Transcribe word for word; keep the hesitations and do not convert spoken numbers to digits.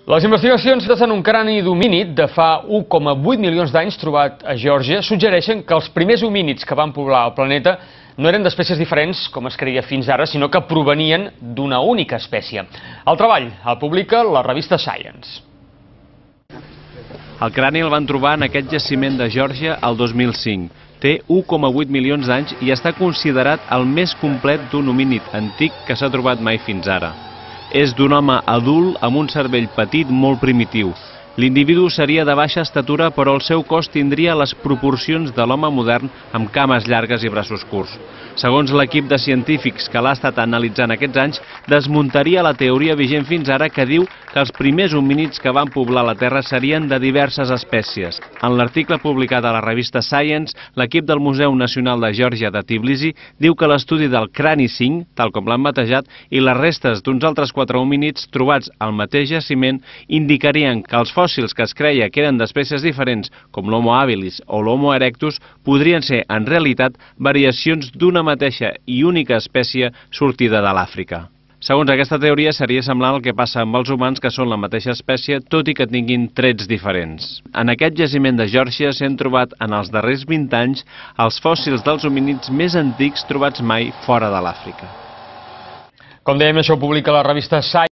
Les investigacions en un crani d'homínid de fa u coma vuit milions d'anys trobat a Geòrgia suggereixen que els primers homínids que van poblar el planeta no eren d'espècies diferents, com es creia fins ara, sinó que provenien d'una única espècie. El treball el publica la revista Science. El crani el van trobar en aquest jaciment de Geòrgia el dos mil cinc. Té u coma vuit milions d'anys i està considerat el més complet d'un homínid antic que s'ha trobat mai fins ara. És d'un home adult amb un cervell petit molt primitiu. L'individu seria de baixa estatura, però el seu cos tindria les proporcions de l'home modern amb cames llargues i braços curts. Segons l'equip de científics que l'ha estat analitzant aquests anys, desmuntaria la teoria vigent fins ara que diu que els primers homínids que van poblar la Terra serien de diverses espècies. En l'article publicat a la revista Science, l'equip del Museu Nacional de Geòrgia de Tbilisi diu que l'estudi del crani cinc, tal com l'han batejat, i les restes d'uns altres quatre homínids trobats al mateix jaciment indicarien que els fòssils que es creia que eren d'espècies diferents, com l'Homo habilis o l'Homo erectus, podrien ser, en realitat, variacions d'una mateixa i única espècie sortida de l'Àfrica. Segons aquesta teoria, seria semblant al que passa amb els humans, que són la mateixa espècie, tot i que tinguin trets diferents. En aquest jaciment de Geòrgia s'han trobat en els darrers vint anys els fòssils dels homínids més antics trobats mai fora de l'Àfrica. Com dèiem, això ho publica la revista Science.